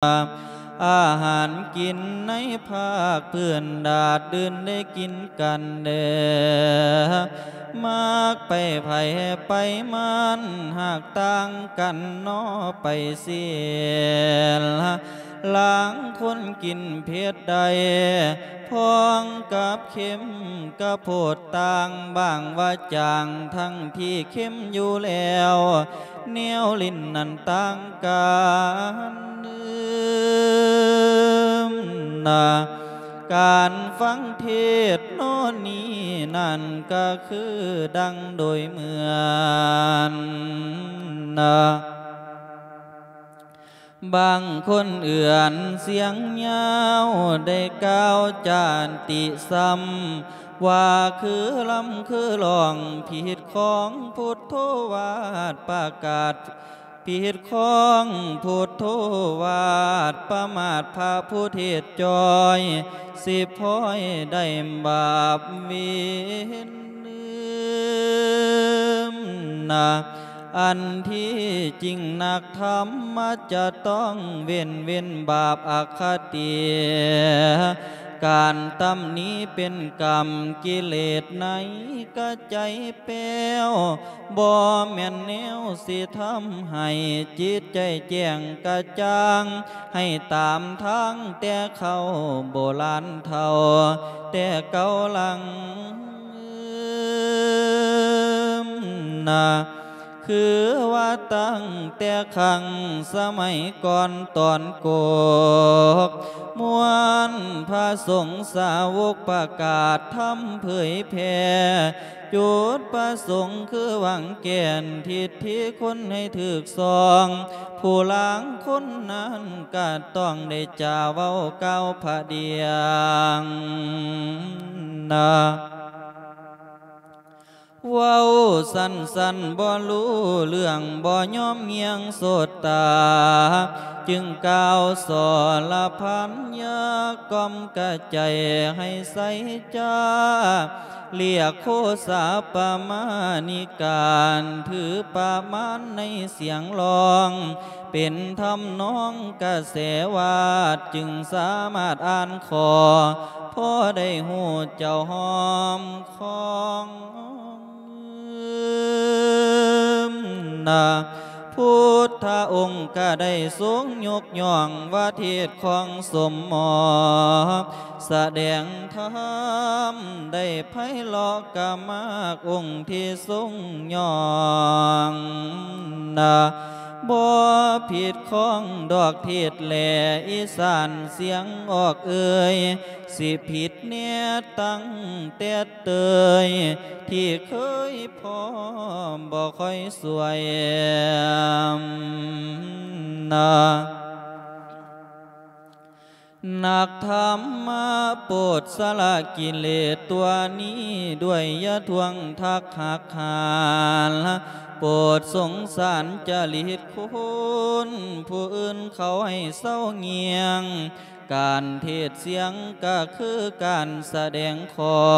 ອາຫານກິນໃນພາກພື້ນດາດດື່ນໄດ້ກິນກັນເດີ ມັກໄປໃຜໄປມັນ ຫາກຕ່າງກັນເນາະໄປເສຍລະ ລາງຄົນກິນເຜັດໄດ້ ພ້ອງກັບເຄັມກະໂພດຕ່າງ ບາງວ່າຈາງ ທັງທີ່ເຄັມຢູ່ແລ້ວ ແນວຫຼິ້ນນັ້ນຕ່າງກັນນະ ການຟັງເທດນໍນີ້ນັ້ນ ກະຄືດັ່ງໂດຍເໝືອນນະ ບາງຄົນເອື້ອນສຽງຍາວ ໄດ້ກ່າວຈາຕິຊ້ຳ ວ່າຄືລຳຄືຮ້ອງ ຜິດຂອງພຸດໂທວາດປະກາດ ຜິດຂອງພຸດໂທວາດ ປະມາດພະຜູ້ເທດຈ່ອຍ ຊິພອຍໄດ້ບາບເວນ ນະ ອັນທີ່ຈິງນັກທຳມະຈະຕ້ອງເວັ້ນ ເວັ້ນບາບອະຄະຕິ ການຕຳໜິເປັນກຳ ກິເລດໃນກະໃຈແປ້ວ ບໍ່ແມ່ນແນວຊິທຳໃຫ້ຈິດໃຈແຈ້ງກະຈ່າງ ໃຫ້ຕາມທາງແຕ່ເຂົາໂບລານເຖົ້າແຕ່ເກົ່າຫຼັງນະ ຄືວ່າຕັ້ງແຕ່ຄັ້ງສະໄໝກ່ອນຕອນກົກ ມວນພະສົງສາວົກປະກາດທຳເຜີຍແຜ່ ຈຸດປະສົງຄືຫວັງແກ່ນທິດທິຄົນໃຫ້ຖືກຊ່ອງ ຜູ້ລາງຄົນນັ້ນກະຕ້ອງໄດ້ຈາເວົ້າກ່າວພະດຽງນະ ເວົ້າສັ້ນໆ ບໍ່ຮູ້ເລື່ອງ ບໍ່ຍອມງຽງໂສດຕາ ຈຶ່ງກ່າວສໍລະພັນ ຢາກກ່ອມກະໃຈໃຫ້ໃສຈ້າ ລຽກໂຄສາປະມານິການ ຖືປະມານໃນສຽງຮ້ອງ ເປັນທຳນອງກະແສວາດ ຈຶ່ງສາມາດອ່ານຂໍ ພໍໄດ້ຮູ້ເຈົ້າຫອມຄອງນະ ພຸດທະອົງກະໄດ້ຊົງຍົກຍ້ອງວ່າເທດຂອງສົມໝໍ ສະແດງທຳໄດ້ໄພເລາະກະມາກອົງທີ່ຊົງຍ້ອງນະ ບໍ່ຜິດຂອງດອກເທດແລອີສານສຽງອອກເອີຍ ຊິຜິດແນ່ຕັ້ງແຕ່ເຕີຍ ທີ່ເຄີຍພໍ້ບໍ່ຄ່ອຍສວຍນະ ນັກທຳມະໂປດສະລະກິເລດຕົວນີ້ດ້ວຍ ຢ່າທວງທັກຫັກຫານ ໂປດສົງສານຈະລິດຄຸນ ຜູ້ອື່ນເຂົາໃຫ້ເຊົາງຽງ ການເທດສຽງກະຄືການສະແດງຂໍ້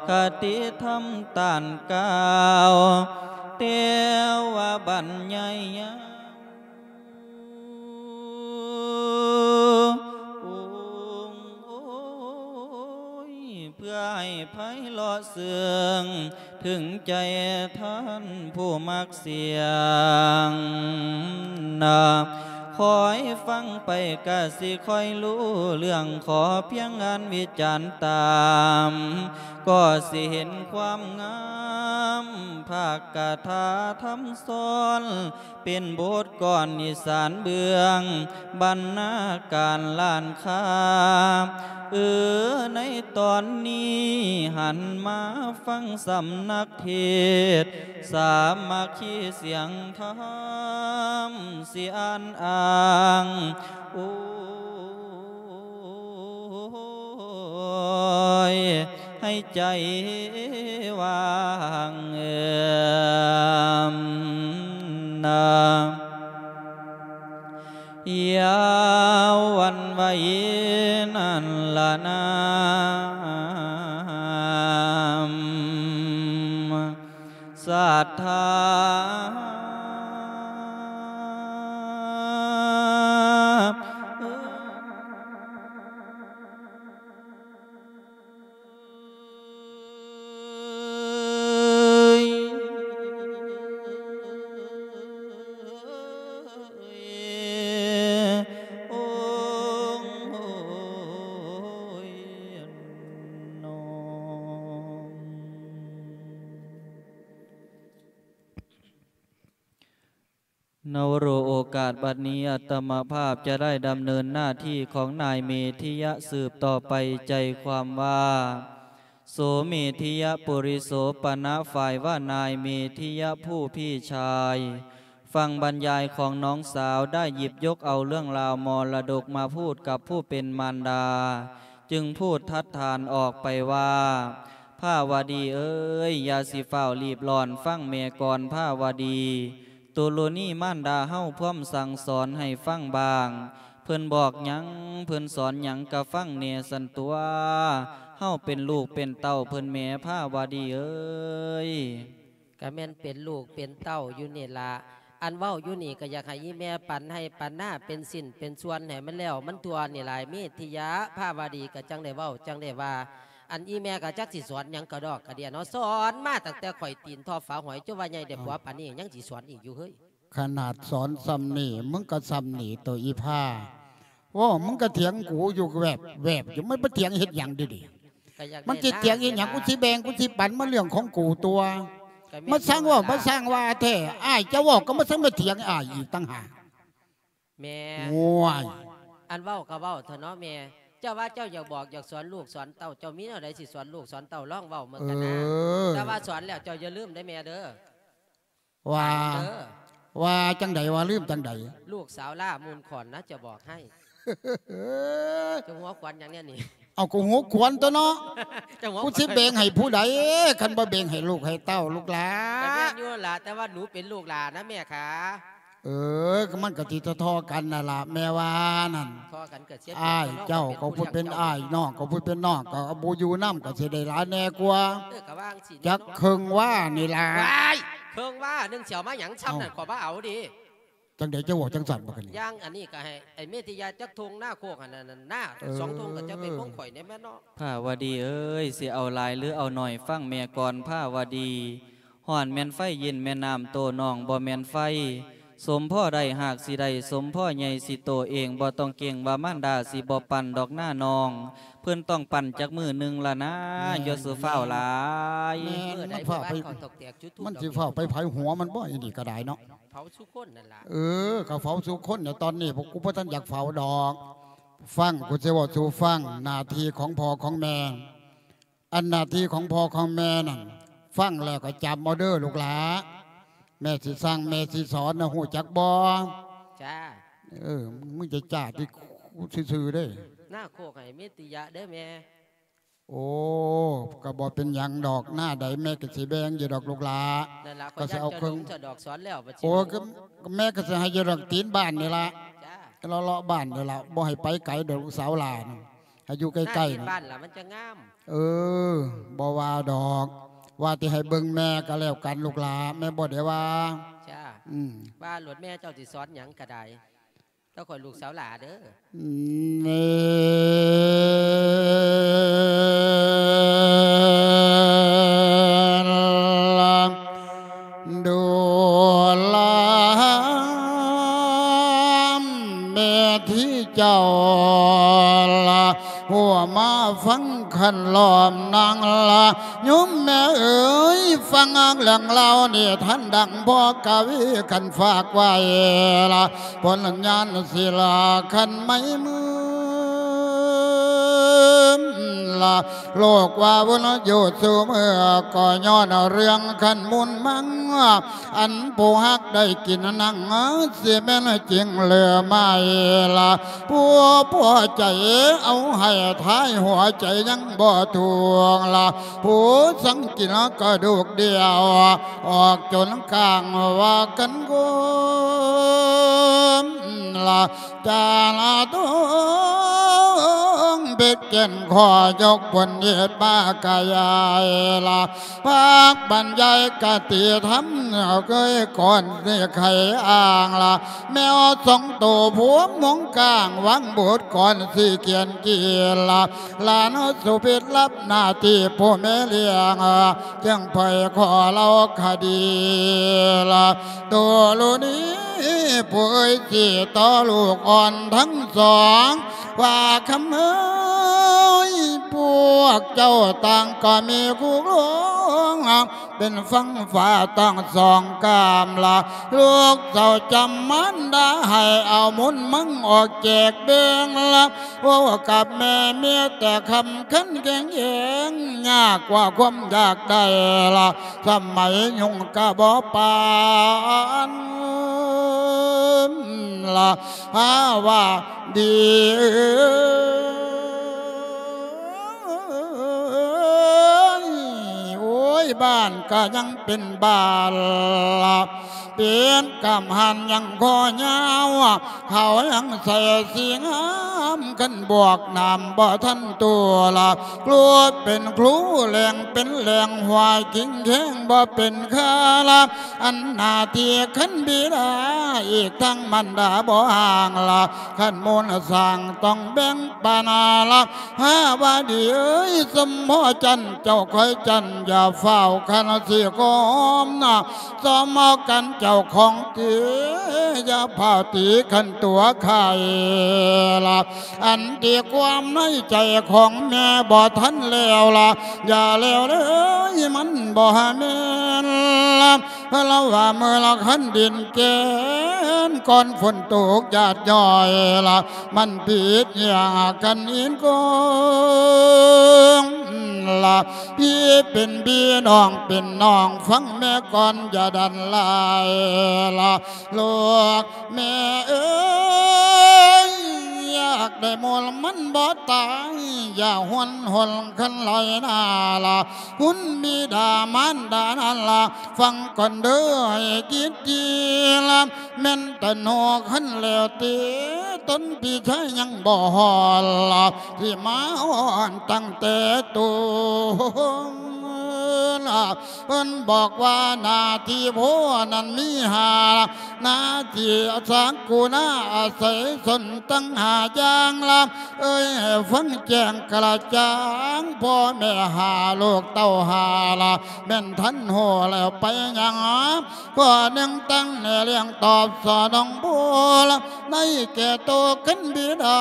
ຄະຕິທຳຕ້ານກ່າວ ແຕ່ວ່າບັນຍາຍຍາວ ໂອ້ຍ ເພື່ອໃຫ້ໄພເລາະເຊື່ອງ ເຖິງໃຈທ່ານຜູ້ມັກສຽງນະ ຄອຍຟັງໄປກະຊິຄ່ອຍຮູ້ເລື່ອງ ຂໍພຽງອ່ານວິຈານຕາມ ກໍຊິເຫັນຄວາມງາມ ພາກກະຖາທຳຊ້ອນ ເປັນບົດກອນອີສານເບື້ອງ ບັນນາການລ້ານຄ້າ ເອີ ໃນຕອນນີ້ຫັນມາຟັງສຳນັກເທດ ສາມັກຄີສຽງທຳ ຊິອ່ານອ້າງ ໂອ້ຍ ໃຫ້ໃຈວ່າງເອີມນາ ຢ່າຫວັ່ນໄຫວນັ້ນລະນາ ສັດທາ ນະວະໂຣ ໂອກາດບັດນີ້ ອາດຕະມະພາບຈະໄດ້ດຳເນີນໜ້າທີ່ຂອງນາຍເມທິຍະສືບຕໍ່ໄປ. ໃຈຄວາມວ່າ ໂສເມທິຍະປຸລິໂສປະນະ ຝ່າຍວ່ານາຍເມທິຍະຜູ້ພີ່ຊາຍ ຟັງບັນຍາຍຂອງນ້ອງສາວ ໄດ້ຫຍິບຍົກເອົາເລື່ອງລາວມໍລະດົກມາພູດກັບຜູ້ເປັນມານດາ ຈຶ່ງພູດຖັດຖານອອກໄປວ່າ ພາວະດີເອີຍ, ຢ່າຊິຟ້າວລີບລ້ອນ, ຟັງແມ່ກ່ອນພາວະດີ. ຕຸລຸນີມານດາເຮົາພວມສັ່ງສອນໃຫ້ຟັງບ້າງ, ເພິ່ນບອກຫຍັງ, ເພິ່ນສອນຫຍັງກະຟັງແດ່ຊັ້ນຕົວະ. ເຮົາເປັນລູກເປັນເຕົ້າເພິ່ນແໝພາວະດີເອີຍ. ກະແມ່ນເປັນລູກເປັນເຕົ້າຢູ່ນີ້ລະ. ອັນເວົ້າຢູ່ນີ້ກະຢາກໃຫ້ອີ່ແມ່ປັນໄຮ່ປັນນາເປັນຊິ້ນເປັນສ່ວນໃຫ້ມັນແລ້ວມັນທົ່ວນີ້ລະ ເມທິຍະ. ພາວະດີກະຈັ່ງໄດ້ເວົ້າຈັ່ງໄດ້ວ່າ. ອັນອີ່ແມ່ກະຈັກຊິສອນຫຍັງກະດອກກະເດຍເນາະ, ສອນມາຕັ້ງແຕ່ຂ້ອຍຕີນທໍ່ຝາຫອຍ ຈົນວ່າໃຫຍ່ໄດ້ຜົວປານນີ້ ຍັງຊິສອນອີກຢູ່ເຮີ້ຍ. ຂະໜາດສອນຊ່ຳນີ້ ມຶງກະຊ່ຳນີ້ໂຕອີ່ພາ. ໂອ້ ມຶງກະຖຽງກູຢູ່ແວບໆຢູ່, ມັນໄປຖຽງເຮັດຫຍັງເດນີ້? ມັນຊິຖຽງເຮັດຫຍັງ? ກູຊິແບ່ງ ກູຊິປັນ ມັນເລື່ອງຂອງກູຕົວະ. ມາຊ່າງເວົ້າ ມາຊ່າງວ່າແທ້. ອ້າຍເຈົ້າເວົ້າກະມາຊ່າງມາຖຽງອ້າຍອີກຕ່າງຫາກ. ແມ່ ໂອ້ຍ ອັນເວົ້າກະເວົ້າເຖາະເນາະແມ່. ເຈົ້າວ່າເຈົ້າຢາກບອກຢາກສອນລູກສອນເຕົ້າ, ເຈົ້າມີແນວໃດຊິສອນລູກສອນເຕົ້າ ລອງເວົ້າເບິ່ງກັນນະ. ເອີ ແຕ່ວ່າສອນແລ້ວເຈົ້າຢ່າລືມເດີແມ່ເດີ. ວ່າ ວ່າຈັ່ງໃດ? ວ່າລືມຈັ່ງໃດ? ລູກສາວຫຼ້າມູນຂອນນະ ຈະບອກໃຫ້. ເຈົ້າຫົວຂວັນຫຍັງແນວນີ້? ເອົາ ກະຫົວຂວັນຕົວະເນາະ. ເຈົ້າຫົວຂວັນ ກູຊິແບ່ງໃຫ້ຜູ້ໃດ ຄັນບໍ່ແບ່ງໃຫ້ລູກໃຫ້ເຕົ້າລູກຫຼ້າ? ກະແມ່ນຢູ່ຫັ້ນລະ, ແຕ່ວ່າໜູເປັນລູກຫຼ້ານະແມ່ຂາ. ເອີ ກະມັນກະຊິທໍ່ໆກັນຫັ້ນລະແມ່ວ່ານັ້ນ. ທໍ່ກັນກະເສຍ ອ້າຍເຈົ້າກະຜູ້ເປັນອ້າຍ ນ້ອງກະຜູ້ເປັນນ້ອງ ກະບໍ່ຢູ່ນຳກະຊິໄດ້ຫຼາຍແດ່ກວ່າ. ເອີ ກະວ່າຈັ່ງຊີ້ ຈັກເຄິ່ງວານີ້ລະ. ວ້າຍ ເຄິ່ງວາໜຶ່ງຊິເອົາມາຫຍັງຊ່ຳນັ້ນ? ເອົ້າ ຂ້ອຍບໍ່ເອົາເດ. ຈັ່ງໃດເຈົ້າເວົ້າຈັ່ງຊັ້ນບັກອັນນີ້? ຢ່າງອັນນີ້ກະໃຫ້ໄອ້ເມທິຍະຈັກທົ່ງນາໂຄກຫັ້ນນະ ນາ ເອີ ສອງທົ່ງກະຈະເປັນຂອງຂ້ອຍແດ່ແມ່ນເນາະ. ພາວະດີເອີຍ, ຊິເອົາຫຼາຍຫຼືເອົາໜ້ອຍ ຟັງແມ່ກ່ອນພາວະດີ. ຮ້ອນແມ່ນໄຟ, ເຢັນແມ່ນນ້ຳ, ໂຕນ້ອງບໍ່ແມ່ນໄຟ. ສົມພໍໄດ້ຫາກຊິໄດ້, ສົມພໍໃຫຍ່ຊິໂຕເອງ, ບໍ່ຕ້ອງເກັ່ງວ່າມານດາຊິບໍ່ປັ່ນດອກນານ້ອງ, ເພິ່ນຕ້ອງປັ່ນຈັກມື້ໜຶ່ງລະນາ. ແມ່ນ ຢ່າສູ່ຟ້າວຫຼາຍ. ແມ່ນ ມັນຟ້າວໄປ ມັນຊິຟ້າວໄປໃຜຫົວມັນບໍ່ ອີນີ້ກະໄດ້ເນາະ. ເຜົາສູ່ຄົນນັ້ນລະ. ເອີ ກະເຜົາສູ່ຄົນນະ. ຕອນນີ້ພວກກູບໍ່ທັນຢາກເຜົາດອກ. ຟັງ ກູຊິເວົ້າສູ່ຟັງ ໜ້າທີ່ຂອງພໍ່ຂອງແມ່. ອັນໜ້າທີ່ຂອງພໍ່ຂອງແມ່ນັ້ນ ຟັງແລ້ວກະຈຳເອົາເດີລູກຫຼ້າ. ແມ່ຊິສັ່ງ ແມ່ຊິສອນນະ ຮູ້ຈັກບໍ່? ຈ້າ. ເອີ ມຶງຈະຈ້າຕິ ກູຊື່ໆເດ້. ນາໂຄກໃຫ້ເມຕິຍະເດີແມ່. ໂອ້ ກະບໍ່ເປັນຫຍັງດອກ, ໜ້າໃດແມ່ກະຊິແບ່ງຢູ່ດອກລູກຫຼ້າ. ນັ້ນລະ ກະຊິເອົາເຄິ່ງ ຂ້ອຍຢ້ານເຈົ້າຫຼົງຊະດອກສອນແລ້ວບັດຊິ. ໂອ້ ກະ ກະແມ່ກະຊິໃຫ້ຢູ່ດອກ ຕີນບ້ານນີ້ລະ. ຈ້າ. ເລາະໆບ້ານນີ້ລະ, ບໍ່ໃຫ້ໄປໄກດອກ ລູກສາວຫຼ້ານ. ໃຫ້ຢູ່ໃກ້ໆ ໜ້າຕີນບ້ານລະມັນຈະງາມ. ເອີ ບໍ່ວ່າດອກ, ວ່າແຕ່ໃຫ້ເບິ່ງແມ່ກະແລ້ວກັນລູກຫຼ້າ, ແມ່ບໍ່ໄດ້ວ່າ. ຈ້າ. ອືມ ວ່າໂລດແມ່ ເຈົ້າຊິສອນຫຍັງກະໄດ້. ແຕ່ຂ້ອຍລູກສາວຫຼ້າເດີ. ແມ່ນລະ ດູລາແມ່ທີ່ເຈົ້າລະ ຫົວມາຟັງຄັນລ້ອມນາງລະ ໂຍມແມ່ເອີຍ ຟັງເລື່ອງລາວນິທານດັ່ງພໍ່ກະວີຄັນຝາກໄວ້ລະ ຜົນຍານສິລາຄັນໄມ້ມືລະ ໂລກວ່າວຸນຢູ່ສູ່ເມື່ອ ກໍຍ້ອນເລື່ອງຄັນມູນມັງ ອັນຜູ້ຮັກໄດ້ກິນນັ່ງ ຊິແມ່ນຈິງຫຼືໄມ່ລະ ຜູ້ພໍໃຈເອົາໃຫ້ທ້າຍຫົວໃຈຍັງບໍ່ທວງລະ ຜູ້ສັງກິນກະດູກດຽວ ອອກຈົນກາງວ່າກັນໂກມລະ ຈາລະໂຕງເບັດແກ່ນ ຂໍຍົກຜົນເດດມາກະຍາຍລະ ພາກບັນຍາຍຄະຕິທຳ ເຄີຍກ່ອນຊິໄຂອ້າງລະ ແມວສອງໂຕຜົວມົງກາງ ວາງບົດກ່ອນຊິຂຽນກີລະ ຫຼານສຸພິດຮັບໜ້າທີ່ຜູ້ແມ່ລ້ຽງ ຈຶ່ງໄພຂໍເລົ່າຄະດີລະ ໂຕລູນີ້ ຜູ້ເອີຍຊິຕໍ່ລູກອ່ອນທັງສອງ ວ່າຄຳເອີຍ ຜູ້ ພວກເຈົ້າຕ່າງກໍມີຄູ່ຄອງ ເປັນຝັ່ງຟ້າທັງສອງກາມລະ ລູກເຕົ້າຈຳມານດາໃຫ້ເອົາບຸນມັງອອກແຈກແບ່ງລະ ເວົ້າກັບແມ່ມີແຕ່ຄຳຂັນແຂງເອງ ຍາກກວ່າຄວາມຢາກໄດ້ລະ ສະໄໝຍຸງກະບໍ່ປານລະ ຫາວ່າດີເອີຍ ໂອ້ຍ ບ້ານກະຍັງເປັນບ້ານລະ ເປັນກຳຫັ້ນຍັງຄໍຍາວ ເຂົາຍັງໃສ່ສີງາມ ຄັນບວກນ້ຳບໍ່ທັນຕົວລະ ກລັວເປັນຄູແຫຼງເປັນແຫຼງ ຫວາຍກິງແຂງບໍ່ເປັນຄາລະ ອັນໜ້າທີ່ຄັນບິດາ ອີກທັງມານດາບໍ່ຫ່າງລະ ຄັນມູນສ້າງຕ້ອງແບ່ງປັນລະ ຫາວ່າດີເອີຍ ສົມພໍຈັນ ເຈົ້າຄອຍຈັນ ຢ່າຟ້າວຄັນຊິກອມນະ ສອມເອົາກັນເຈົ້າຂອງຕີ ຢ່າພ້າວຕີຄັນຕົວໄຂ່ລະ ອັນທີ່ຄວາມໃນໃຈຂອງແມ່ບໍ່ທັນແລ້ວລະ ຢ່າແລ້ວເລີຍ ມັນບໍ່ແມ່ນລະ ລາວວ່າເມື່ອລະຄັນດິນແກ່ນ ກ່ອນຝົນຕົກຢາດຍ້ອຍລະ ມັນຜິດຫຍັງກັນອິນກອງລະ ພີ່ເປັນພີ່ ນ້ອງເປັນນ້ອງ ຟັງແມ່ກ່ອນ ຢ່າດັນຫຼາຍລະ ລູກແມ່ເອີຍ ຢາກໄດ້ມູນມັນບໍ່ຕາຍ ຢ່າຫົນຫົນຄັນໄຫຼນາລະ ຄຸນບິດາມານດານັ້ນລະ ຟັງກ່ອນເດີໃຫ້ກິດດີລະ ແມ່ນຕະໂນຄັນແລ້ວຕິ ຕົນພີ່ຊາຍຍັງບໍ່ຮອດລະ ທີ່ມາຮອດຕັ້ງແຕ່ຕົ້ນລະ ເພິ່ນບອກວ່າໜ້າທີ່ໂພນັ້ນມີຫ້າ ໜ້າທີ່ສັກກຸນາອາໄສຊົນຕັ້ງຫ້າຢ່າງລະ ເອີຍ ໃຫ້ຟັງແຈ້ງກະຈ່າງ ພໍ່ແມ່ຫ້າ ລູກເຕົ້າຫ້າລະ ແມ່ນທັນຮູ້ແລ້ວໄປຍັງ ຂໍ້ໜຶ່ງຕັ້ງແນ່ລ້ຽງຕອບສະໜອງບຸນ ໃນແກ່ໂຕຄັນບິດາ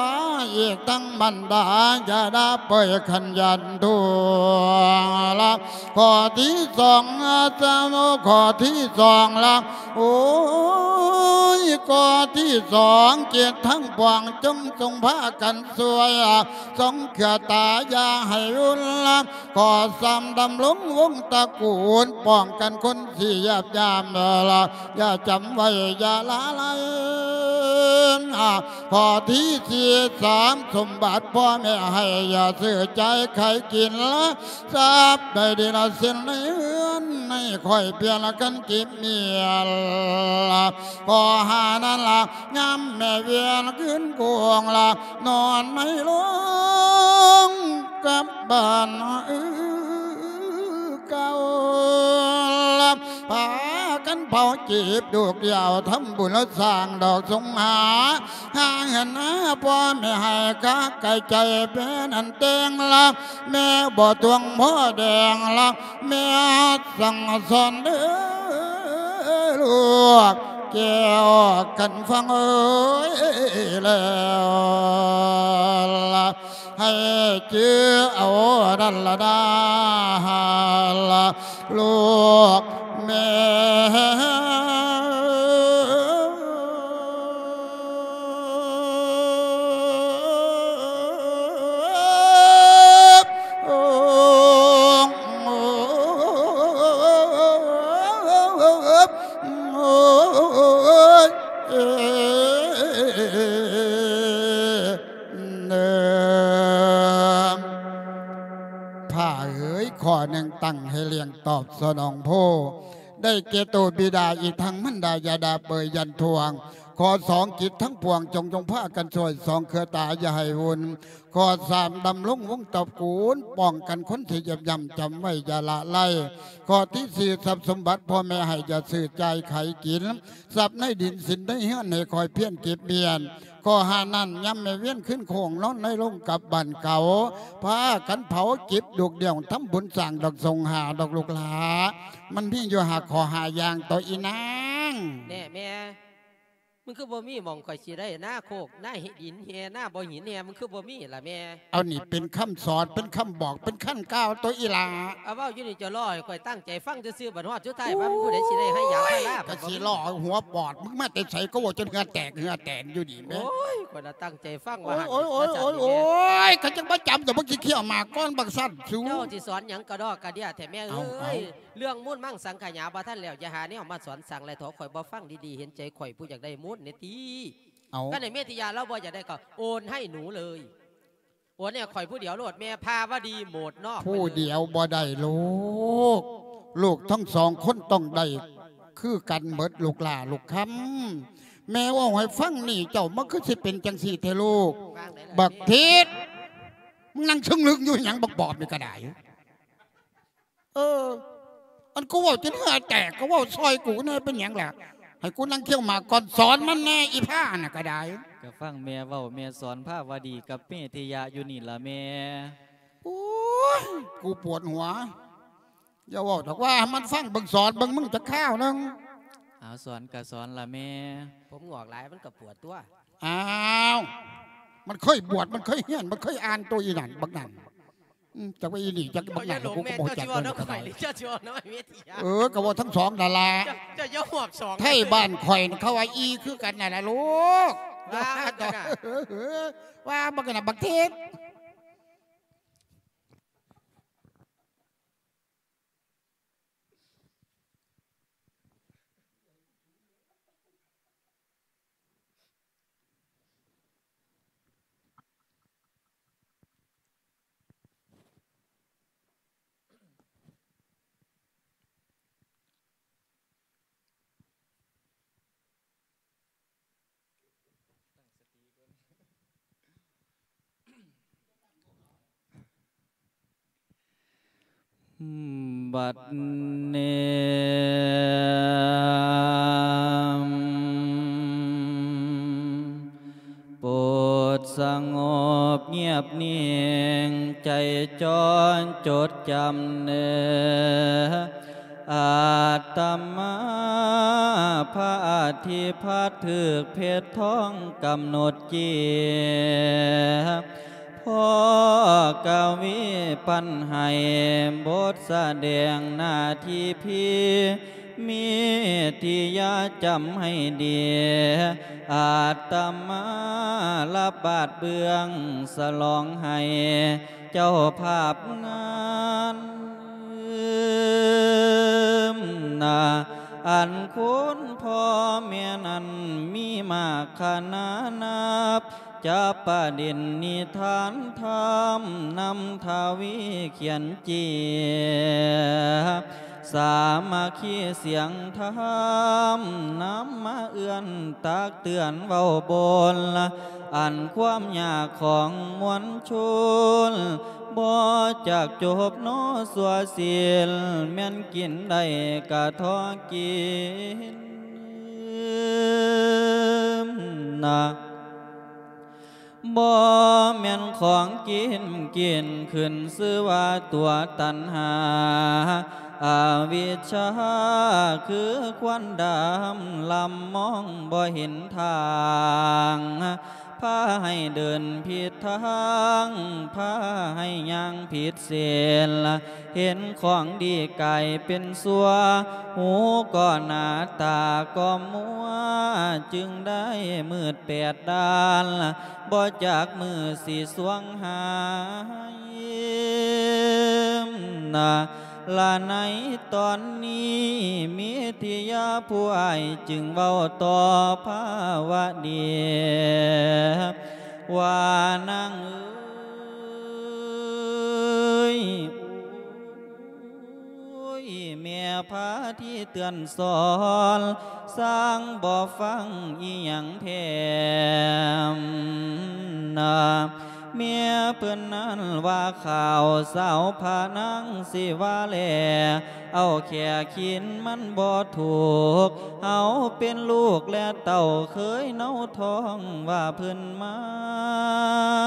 ອີກທັງມານດາ ຢ່າດ່າເປີຍຂັນຢັນທົ່ວລະ ຂໍ້ທີສອງ ອາຈານ ຂໍ້ທີສອງລະ ໂອ້ຍ ຂໍ້ທີສອງ ເຈັດທັງປວງ ຈົ່ງຈົ່ງພາກັນຊ່ວຍ ສົ່ງເຄືອຕາຢ່າໃຫ້ວຸ່ນລະ ຂໍ້ສາມ ດຳລົງວົງຕະກູນ ປ້ອງກັນຄົນທີ່ຢາບຢາມລະ ຢ່າຈຳໄວ້ຢ່າລະໄລ ຂໍ້ທີສີ່ ສາມ ສົມບັດພໍ່ແມ່ໃຫ້ ຢ່າຊື້ຈ່າຍຂາຍກິນລະ ຊັບໃດດີລະສິນໃນເຮືອນ ໃຫ້ຂ້ອຍເປ່ຽນລະກັນກິບມຽນລະ ຂໍ້ຫ້ານັ້ນລະ ຍາມແມ່ວຽນຄືນກວງລະ ນອນໃນໂລງກັບບ້ານເກົ່າລະ ພາກັນເຜົາຈີບລູກດຽວ ທຳບຸນລະສ້າງດອກສົງຫາ ຫາເງິນຫາພໍ່ແມ່ໃຫ້ກະໄກໃຈເປັນອັນແຕ່ງລະ ແມ່ບໍ່ທວງພໍ່ແດງລະ ແມ່ສັ່ງສອນເດີລູກແກ້ວກັນຟັງເອີຍແລ້ວລະ ໃຫ້ຈື່ເອົານັ້ນລະນາ ລູກແມ່ ພ້າເອີຍ ຂໍ້ໜຶ່ງຕັ້ງໃຫ້ລ້ຽງຕອບສະໜອງໂພ ໄດ້ແກ່ໂຕບິດາ ອີກທັງມານດາ ຢ່າດ່າເປີຍຢັນທວງ ຂໍ້ສອງ ຈິດທັງປວງ ຈົ່ງຈົ່ງພາກັນຊ່ວຍ ສ່ອງເຄືອຕາຢ່າໃຫ້ວຸ່ນ ຂໍ້ສາມ ດຳລົງວົງຕະກູນ ປ້ອງກັນຄົນທີ່ຢຽບຢ່ຳ ຈຳໄວ້ຢ່າລະໄລ ຂໍ້ທີສີ່ ຊັບສົມບັດພໍ່ແມ່ໃຫ້ ຢ່າຊື້ຈ່າຍຂາຍກິນ ຊັບໃນດິນສິນໃນເຮືອນ ໃຫ້ຄອຍພຽນເກັບມຽນ ຂໍ້ຫ້ານັ້ນ ຍາມແມ່ວຽນຄືນໂຄ້ງ ນອນໃນໂລງກັບບ້ານເກົ່າ ພາກັນເຜົາຈິບລູກດຽວ ທຳບຸນສ້າງດອກສົງຫາດອກລູກຫຼາ ມັນມີຢູ່ຫ້າຂໍ້ຫ້າຢ່າງ ໂຕອີນາງ ແນ່ແມ່. ມັນຄືບໍ່ມີໝ່ອງຂ້ອຍຊິໄດ້ນາໂຄກ ນາຫີນແຮ່ ນາບໍ່ຫີນແຮ່ ມັນຄືບໍ່ມີລະແມ່? ເອົານີ້ເປັນຄຳສອນ ເປັນຄຳບອກ ເປັນຄັນກ່າວໂຕອີ່ຫຼ້າ. ເອົາເວົ້າຢູ່ນີ້ ເຈົ້າລໍໃຫ້ຂ້ອຍຕັ້ງໃຈຟັງຊື່ໆ ບັດຮອດສຸດທ້າຍວ່າມີຜູ້ໃດຊິໄດ້ໄຮ່ຢາງພາລາ. ໂອ້ຍ ກໍຊິລໍຫົວປອດ ມຶງມາແຕ່ໃສ ກໍເວົ້າຈົນເຫື່ອແຕກເຫື່ອແຕນຢູ່ນີ້ແມ່. ໂອ້ຍ ຂ້ອຍລະຕັ້ງໃຈຟັງວ່າ ໂອ້ຍ ໂອ້ຍ ໂອ້ຍ ໂອ້ຍ ໂອ້ຍ ຄັນຈັ່ງບໍ່ຈຳ ກໍບໍ່ຊິຄ້ຽວໝາກກ່ອນບັກຊັ້ນສູ. ເຈົ້າຊິສອນຫຍັງກະດອກກະເດຍແທ້ແມ່ເອີຍ. ເອົາ ເອົາ ເລື່ອງມູນມັງສັງຂະຫຍາບໍ່ທັນແລ້ວ ຢ່າຫາແນວມາສອນສັງ ແລະ ເຖາະຂ້ອຍບໍ່ຟັງດີໆ ເຫັນໃຈຂ້ອຍຜູ້ຢາກໄດ້ມູນແດ່ຕິ. ເອົາ ຄັນໃຫ້ເມທິຍາລາວບໍ່ຢາກໄດ້ກໍໂອນໃຫ້ໜູເລີຍ ໂອນໃຫ້ຂ້ອຍຜູ້ດຽວໂລດ ແມ່ພາວະດີໂໝດນອກ ຜູ້ດຽວບໍ່ໄດ້ລູກ ລູກທັງສອງຄົນຕ້ອງໄດ້ຄືກັນເໝິດ ລູກຫຼ້າລູກຄຳ. ແມ່ເວົ້າໃຫ້ຟັງນີ້ ເຈົ້າມັນຄືຊິເປັນຈັ່ງຊີ້ແທ້ລູກ? ບັກທິດ ມຶງນັ່ງຊຶງລຶງຢູ່ຫຍັງ ບັກບອບນີ້ກໍໄດ້. ເອີ ອັນກູເວົ້າຈົນເຫື່ອແຕກ ກໍເວົ້າຊ່ອຍກູແດ່ ເປັນຫຍັງລະ? ໃຫ້ກູນັ່ງຄ້ຽວໝາກກ່ອນ ສອນມັນແດ່ ອີພານນະກໍໄດ້. ກໍຟັງແມ່ເວົ້າ ແມ່ສອນພາວະດີກັບເມທິຍະຢູ່ນີ້ລະແມ່. ໂອ້ຍ ກູປວດຫົວ. ຢ່າເວົ້າດອກ ວ່າໃຫ້ມັນຟັງເບິ່ງ ສອນເບິ່ງ ມຶງຈັກຄາວໜຶ່ງ. ເອົາ ສອນກໍສອນລະແມ່. ຜົມງອກຫຼາຍ ມັນກໍປວດຕົວະ. ອ້າວ ມັນເຄີຍບວດ ມັນເຄີຍຮຽນ ມັນເຄີຍອ່ານຕົວະ ອີນັ້ນ ບັກນັ້ນ. ອືມ ຈັກວ່າອີນີ້ ຈັກບັກນັ້ນ ເຈົ້າຢ່າຫຼົງແມ່ ເຈົ້າຊິເວົ້ານຳຂ້ອຍ ເຈົ້າຊິເວົ້ານຳເມທິຍາ. ເອີ ກໍເວົ້າທັງສອງນັ້ນລະ. ເຈົ້າ ເຈົ້າຢ່າຮວບສອງ. ໄທບ້ານຂ້ອຍເຂົາວ່າອີຄືກັນນັ້ນລະລູກ. ວ່າມັນກໍນະ ວ່າບັກນັ້ນ ບັກທິດ. ບັດນີ້ ໂປດສະຫງົບງຽບນິ່ງ ໃຈຈ່ອນຈົດຈຳເນີ ອາດຕະມາພະອາທິພາດ ຖືກເພັດທອງກຳນົດເຈຍ ພໍ່ກະວີປັນໃຫ້ ບົດສະແດງໜ້າທີ່ພີ ເມທິຍາຈຳໃຫ້ດີ ອາດຕະມາລະບາດເບື້ອງ ສະຫຼອງໃຫ້ ເຈົ້າພາບງານນາ ອັນຄຸນພໍ່ແມ່ນັ້ນມີມາກຂະໜານນັບ ຈະປະດິນນິທານທຳນຳທະວີຂຽນເຈຍ ສາມັກຄີສຽງທຳນຳມາເອື້ອນຕັກເຕືອນເວົ້າບົນ ອັນຄວາມຍາກຂອງມວນຊົນ ບໍ່ຈັກຈົບນໍຊົ່ວສິ້ນ ແມ່ນກິນໄດ້ກະທໍ່ກິນນະ ບໍ່ແມ່ນຂອງກິນ ກິນຂຶ້ນຊື່ວ່າຕົວຕັນຫາ ອະວິດຊາຄືຄວັນດຳ ລຳມອງບໍ່ເຫັນທາງ ພາໃຫ້ເດີນຜິດທາງ ພາໃຫ້ຍ່າງຜິດເສັ້ນ ເຫັນຂອງດີກາຍເປັນຊົ່ວ ຫູກໍໜາ ຕາກໍມົວ ຈຶ່ງໄດ້ມືດແປດດ້ານ ບໍ່ຈັກມື້ຊິສວ່າງຫາຍນະ ລະໃນຕອນນີ້ ເມທິຍາຜູ້ອ້າຍຈຶ່ງເວົ້າຕໍ່ພາວະດີ ວ່ານາງເອີຍ ໂອ້ຍ ແມ່ພາທີ່ເຕືອນສອນ ຊ່າງບໍ່ຟັງອີ່ຫຍັງແຖມນະ ເມຍເພິ່ນນັ້ນວ່າຂ່າວ ສາວພານາງຊິວ່າແລ ເອົາແຂກຂີນມັນບໍ່ຖືກ ເຮົາເປັນລູກແລະເຕົ້າ ເຄີຍເນົາທ້ອງວ່າເພິ່ນມາ